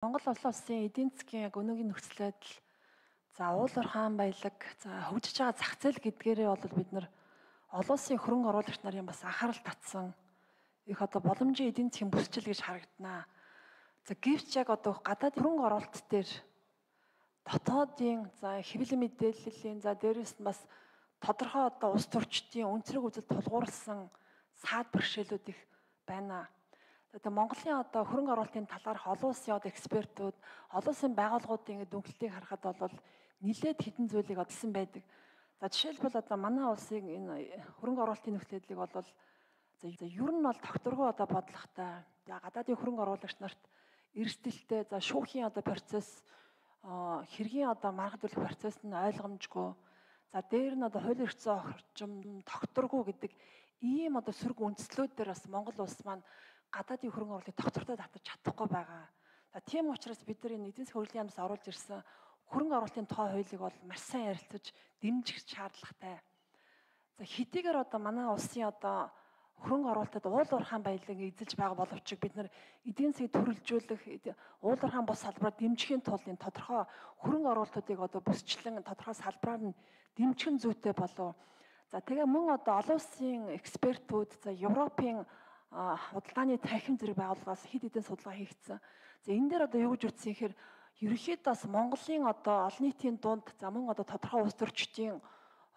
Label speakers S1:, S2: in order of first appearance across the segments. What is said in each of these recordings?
S1: Монгол улсын эдийн засгийн яг өнөөгийн нөхцөл байдал за уул уурхаан баялаг за хөгжиж байгаа зах зээл гэдгээрээ бол бид нар олон улсын хөрөнгө оруулагч нарын бас анхаарал татсан их одоо боломжийн эдийн засгийн бүсчил гэж харагданаа. За гэвч яг одоо гадаад хөрөнгө оруулалт дээр дотоодын за хэвлэл мэдээллийн за дээрэс нь бас тодорхой одоо улс төрчдийн өнцрөг үзэл тулгуурласан саад бэрхшээлүүд их байна. Тэгээ Монголын одоо хөрөнгө оруулалтын талаарх олон улсын одоо экспертүүд, олон улсын байгууллагуудын дүнхлэлтийг харахад бол нэлээд хэдэн зүйлийг одолсон байдаг. За жишээлбэл одоо манай улсын энэ хөрөнгө оруулалтын нөхцөлийг бол за ер нь бол тогтворгүй одоо бодлоготой. За гадаадын хөрөнгө оруулагч нарт эрсдэлтэй, за шүүхийн одоо процесс хэргийн одоо маргадлуулах процесс нь ойлгомжгүй. За дээр нь одоо хуулийн эрх зүйн орчим тогтворгүй гэдэг ийм одоо сөрөг үндслүүдээр бас Монгол улс маань гадаадын хөрөнгө оруулалтыг тогтвортой татаж чадахгүй байгаа. За тийм учраас бид нар энэ эдийн засгийн хөгжлийн яамнаас оруулж ирсэн хөрөнгө оруулалтын тухай хуулийг бол маш сайн ярилцаж дэмжих шаардлагатай. За хэдийгээр одоо манай улсын одоо хөрөнгө оруулалтад уул уурхаан баялаг эзэлж байгаа боловч бид нар эдийн засгийг төрөлжүүлэх, уул уурхаан бус салбараа дэмжихийн тулд энэ тодорхой хөрөнгө оруулалтуудыг одоо бүсчлэн тодорхой салбараар нь дэмжих нь зүйтэй болов. За тэгээ мөн одоо олон улсын экспертүүд, за Европын худалдааны танхим зэрэг байгууллагаас хэд хэдэн судалгаа хийгдсэн. За энэ дээр одоо юу гэж үздсэн гэхээр ерөнхийдөө бас Монголын одоо олон нийтийн дунд за мөн одоо тодорхой улс төрчдийн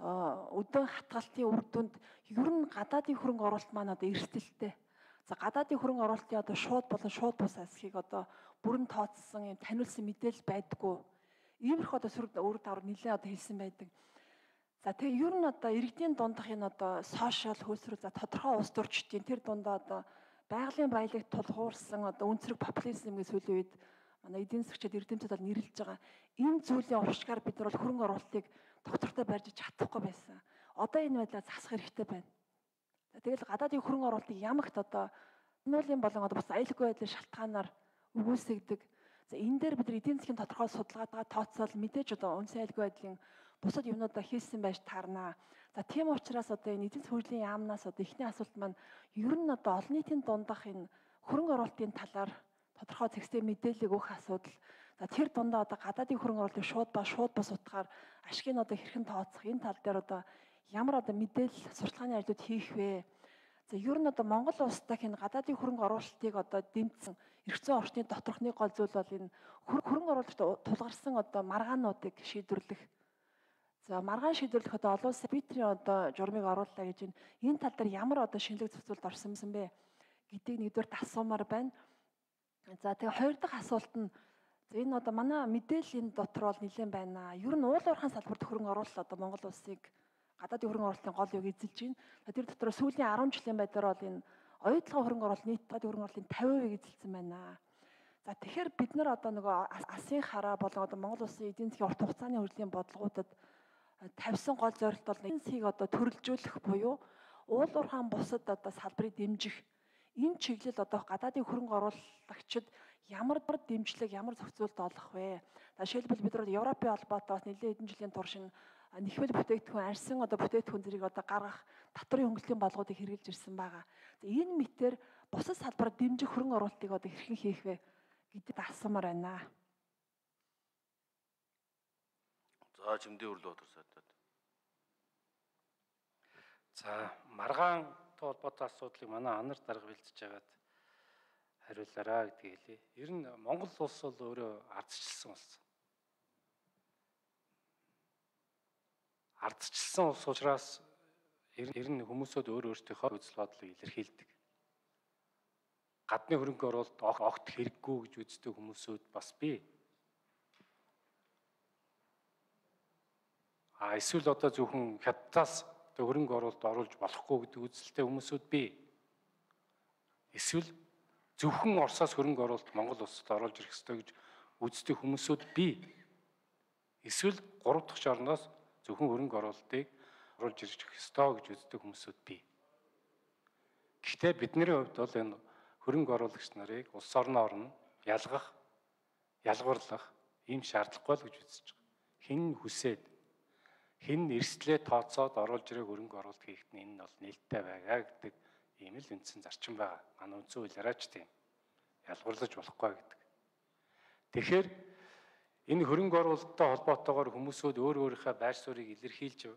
S1: өдөө хатгалтын үр дүнд ер нь гадаадын хөрөнгө оруулалт маань одоо эрсдэлтэй. За гадаадын хөрөнгө оруулалтын одоо шууд болон шууд бус асхийг одоо бүрэн тооцсон юм таниулсан мэдээлэл байдаггүй. Иймэрхүү одоо сөрөг өөр давар нэлээд одоо хэлсэн байдаг. За тэгээ ер нь одоо иргэдийн дундах энэ одоо сошиал хөлсрөл за тодорхой улс төрчдийн тэр дундаа одоо байгалийн баялагт тулгуурсан одоо өнцрөг популизм гэж сүүлийн үед манай эдийн засгчид эрдэмтэд бол нэрлэж байгаа. Энэ зүйлийн уршгаар бид нар бол хөрөнгө оруулалтыг доктортой барьж чадахгүй байсан. Одоо энэ байдлаар засах хэрэгтэй байна. Тэгэл гадаадын хөрөнгө оруулалтыг ямагт одоо нуулын болон одоо бас аюулгүй байдлын шалтгаанаар өгүүлсэгдэг. За энэ дээр бид нар эдийн засгийн тодорхой судалгаатайгаа тооцоол мэдээж одоо үнсэн аюулгүй байдлын бусад юмнуудаа хийсэн байж таарнаа. За тийм учраас одоо энэ эдийн засгийн хөгжлийн яамнаас одоо эхний асуулт маань ер нь одоо олон нийтийн дундах энэ хөрөнгө оруулалтын талаар тодорхой зэгцтэй мэдээлэл өгөх асуудал. За тэр дундаа одоо гадаадын хөрөнгө оруулалтыг шууд бус утгаар ашгийг одоо хэрхэн тооцох энэ тал дээр одоо ямар одоо мэдээлэл сурталчилгааны ажлууд хийх вэ? За ер нь одоо Монгол улстай энэ гадаадын хөрөнгө оруулалтыг одоо дэмжсэн эрх зүйн орчны доторхны гол зүйл бол энэ хөрөнгө оруулагчид тулгарсан одоо маргаануудыг шийдвэрлэх. За маргаан шийдвэрлэх одоо олон улсын арбитрийн одоо журмыг орууллаа гэж энэ тал дээр ямар одоо шинэлэг зохицуулт орсон бэ гэдгийг нэгдүгээр асуумаар байна. За тэгээ хоёр дахь асуулт нь энэ одоо манай мэдээллийн дотор бол нэлээд байна. Ер нь уул уурхаан салбарт хөрөнгө оруулалт одоо Монгол улсыг гадаадын хөрөнгө оруулалтын гол юг эзэлж байна. Тэр дотор сүүлийн 10 жилийн байдлаар бол энэ оюутлогын хөрөнгө оруулалт нийт гадаадын хөрөнгө оруулалтын 50% эзэлсэн байна. За тэгэхээр бид нар одоо нөгөө Асын хараа болон одоо Монгол улсын эдийн засгийн урт хугацааны хөгжлийн бодлогуудад тавьсан гол зорилт бол эдийн засгийг одоо төрөлжүүлэх буюу уул уурхаан бусад одоо салбарыг дэмжих. Энэ чиглэл одоо гадаадын хөрөнгө оруулагчид ямар дэмжлэг, ямар зохицуулт олох вэ? Жишээлбэл бид нар Европын холбоотой бас нэлээд хэдэн жилийн турш нэхвэл бүтээгдэхүүн арьсан одоо бүтээгдэхүүн зэрэг одоо гаргах татварын хөнгөлөлтийн болгоодыг хэрэгжилж ирсэн байгаа. За энэ мэтэр бусад салбараар дэмжих хөрөнгө оруулалтыг одоо хэрхэн хийх вэ гэдэг асуумаар байна.
S2: За Чимдээ Өрлөө Батарсаатад. За маргаантай холбоотой асуудлыг манай анар дарга бэлдэж байгаад хариулаарай гэдгийг хэлье. Ер нь Монгол улс бол өөрөө ардчилсан улс. Ардчилсан улс учраас ер нь хүмүүсүүд өөрсдийнхөө үзэл бодлыг илэрхийлдэг. Гадны хөрөнгө оруулалт огт хэрэггүй гэж үздэг хүмүүсүүд бас бий. Эсвэл одоо зөвхөн хятадаас хөрөнгө оруулалт оруулж болохгүй гэдэг үзэлтэй хүмүүсүүд бий. Эсвэл зөвхөн Оросоос хөрөнгө оруулалт Монгол улсад оруулж ирэх ёстой гэж үздэг хүмүүсүүд бий. Эсвэл 3 дахь орноос зөвхөн хөрөнгө оруулалтыг оруулж ирэх ёстой гэж үздэг хүмүүсүүд бий. Гэхдээ бидний хувьд бол энэ хөрөнгө оруулагч нарыг улс орноо орно ялгарлах ийм шаардлагагүй л гэж үзэж байгаа. Хэн хүсээд хэн эрсдлээ тооцоод оруулж ирэх хөрөнгө оруулалт хийхэд нь энэ бол нээлттэй байгаа гэдэг ийм л үндсэн зарчим байгаа. Манай үндсэн хуулиараач тийм ялгуурлаж болохгүй гэдэг. Тэгэхээр энэ хөрөнгө оруулалттай холбоотойгоор хүмүүсүүд өөрийнхөө байр суурийг илэрхийлж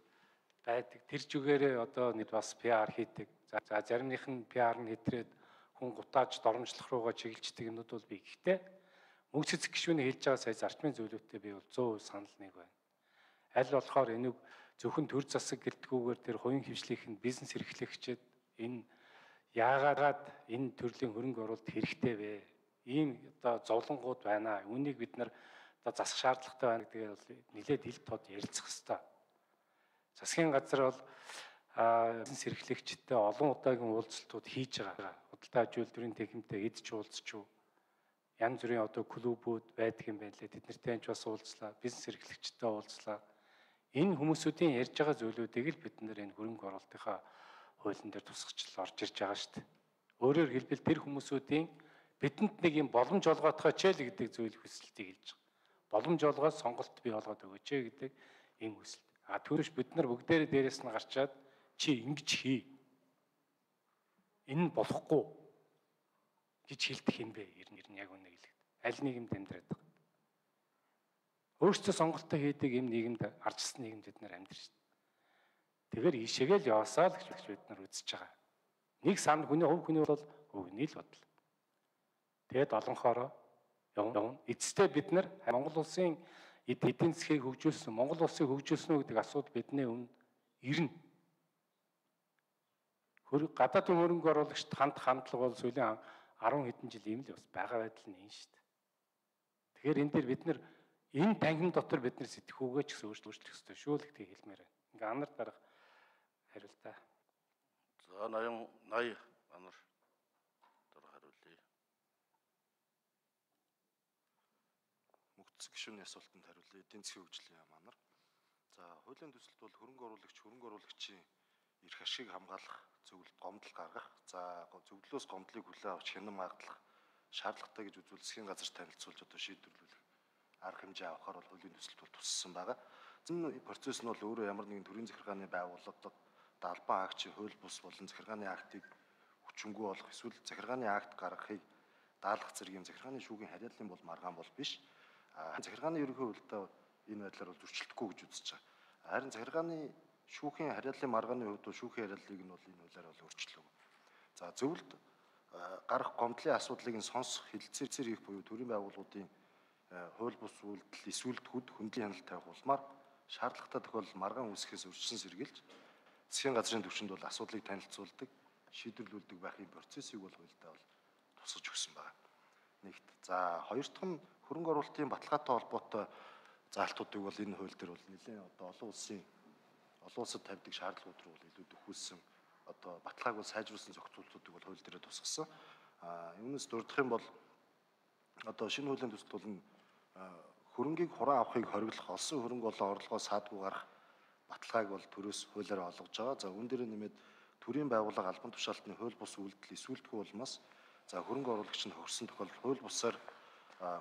S2: байдаг. Тэр зүгээрээ одоо нэг бас PR хийдэг. За заримных нь PR нь хэтрээд хүн гутааж доромжлох руугаа чиглэлждэг юмнууд бол бий. Гэхдээ мөнх цэцэг гишүүний хэлж байгаа сая зарчмын зөвлөлтөд би бол 100% санал нэг байна. Аль болохоор энийг зөвхөн төр засаг гэлтгүүгээр тэр хувийн хвшлийнх нь бизнес эрхлэгчид энэ яагаад энэ төрлийн хөрөнгө оруулалт хэрэгтэй вэ? Ийм одоо зовлонгууд байна. Үүнийг бид нар одоо засах шаардлагатай байна гэдгээр бол нэлээд ил тод ярилцах хэрэгтэй. Засгийн газар бол бизнес эрхлэгчтэй олон удаагийн уулзалтууд хийж байгаа. Худалдаа аж үйлдвэрийн техниктэй эдж уулзч янз бүрийн одоо клубүүд байдаг юм байна лээ. Тэд нартэй бас уулзлаа. Бизнес эрхлэгчтэй уулзлаа. Энэ хүмүүсүүдийн ярьж байгаа зүйлүүдийг л бид нэр энэ хөрөнгө оруулалтынхаа хуулийн дээр тусгачл орж ирж байгаа шүү дээ. Өөрөөр хэлбэл тэр хүмүүсүүдийн бидэнд нэг юм боломж олгоодохоо ч л гэдэг зүйл хүсэлтийг хэлж байгаа. Боломж олгоод сонголт бий болгоод өгөөч гэдэг ийм хүсэлт. Түүнээс бид нар бүгдээрээ дээрээс нь гарчаад чи ингэж хий. Энэ нь болохгүй гэж хэлдэг юм бэ? Ер нь яг үнэ хэлээд. Аль нийгэмд амьдраад байгаа. Өөрсдөө сонголтоо хийдэг юм нийгэмд арчсан нийгэмд бид нар амьдрах шүү дээ. Тэгэхээр ийшээгээ л яваасаа л гэж бид нар үзэж байгаа. Нэг санд хүний хувь хүний бол өгний л бодол. Тэгээд олонхороо явна. Эцэстээ бид нар Монгол улсын эдийн засгийг хөгжүүлсэн, Монгол улсыг хөгжүүлсэн үү гэдэг асуудал бидний өмнө ирнэ. Гадаадын хөрөнгө оруулагчид хандлага бол сүүлийн 10 хэдэн жил ийм л бас байгаа байдал нь энэ шүү дээ. Тэгэхээр энэ дээр бид нар энэ танхим дотор бид нар сэтгхүүгээ ч гэсэн өөрчлөх ёстой шүү л гэдгийг хэлмээр байна. Ингээ анар дарах хариултаа.
S3: За 80 анар дараа хариулъя. Мөнх цэцэг гишүүний асуултанд хариулъя. Эдийн засгийн хөгжлийн яам анар. За хуулийн төсөлд бол хөрөнгө оруулагчийн эрх ашиг хамгаалах зөвлөлд гомдол гаргах, за зөвлөлөөс гомдлыг хүлээн авч хянан магадлах шаардлагатай гэж үзвэл засгийн газар танилцуулж одоо шийдвэрлэх арга хэмжээ авахар бол хуулийн төсөлд бол туссан байгаа. Энэ процесс нь бол өөрөө ямар нэгэн төрийн захиргааны байгууллага албан агчийн хууль бус болон захиргааны актыг хүчингүй болох эсвэл захиргааны акт гаргахыг даалгах зэргийн захиргааны шүүхийн харьяаллын бол маргаан бол биш. Захиргааны ерөнхий хуультай энэ байдлаар бол зөрчилдөхгүй гэж үзэж байгаа. Харин захиргааны шүүхийн харьяаллын маргааны хувьд бол шүүхийн харьяаллыг нь бол энэ хуулиар бол өөрчлөв. За зөвлөлд гарах гомдлын асуудлыг нь сонсох хэлэлцээр хийх буюу төрийн байгууллагуудын хууль бус үйлдэл эсвэлтгүүд хөндлөн хяналт тавих улмаар шаардлагатай тохиолдолд маргаан үүсгэхээс урьдчилан сэргийлж засгийн газрын түвшинд бол асуудлыг танилцуулдаг, шийдвэрлүүлдэг байхын процессыг бол хуультай бол тусгаж өгсөн байна. Нэгт. За хоёр дахь нь хөрөнгө оруулалтын баталгаатай холбоотой заалтуудыг бол энэ хууль дээр бол нэлээд одоо олон улсад тавьдаг шаардлагууд руу бол илүү төхүүлсэн одоо баталгааг бол сайжруулсан зохицуултуудыг бол хууль дээр тусгасан. Юунаас дурдах юм бол одоо шинэ хуулийн төсөлд бол хөрөнгийг хураан авахыг хориглох олсон хөрөнгө болон орлогоо саадгүй гарах баталгааг бол төрөөс хуулиар олгож байгаа. За үүн дээр нэмээд төрийн байгууллага албан тушаалтны хууль бус үйлдэл эсвэлтгүй улмаас за хөрөнгө оруулагч нь хөрсөн тохиолдолд хууль бусаар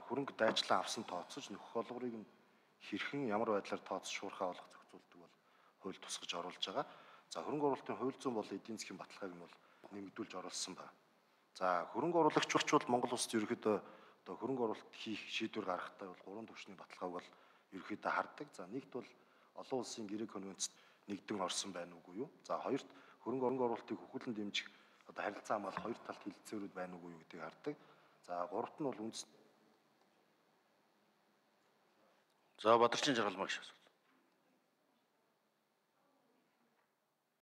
S3: хөрөнгө дайчлан авсан тооцож нөхөх олгорыг нь хэрхэн ямар байдлаар тооцшуурхаа олох зохицуултыг бол хууль тусгаж оруулж байгаа. За хөрөнгө оруулалтын хууль зүйн болон эдийн засгийн баталгааг нь бол нэмэгдүүлж оруулсан байна. За хөрөнгө оруулагч бол Монгол улсад ерөөхдөө одоо хөрөнгө оруулалт хийх шийдвэр гаргахтаа бол гурван түвшний баталгааг бол ерөөхдөө хардаг. За нэгт бол олон улсын гэрээ конвенцэд нэгдэн орсон байна уугүй юу? За хоёрт хөрөнгө оруулалтыг хөхүүлэн дэмжих одоо харилцаа хамгаалах хоёр талт хэлэлцээрүүд байна уугүй юу гэдгийг хардаг. За гуравт нь бол үндэс.
S4: За Бадарчин Жаргалмаа гişээс.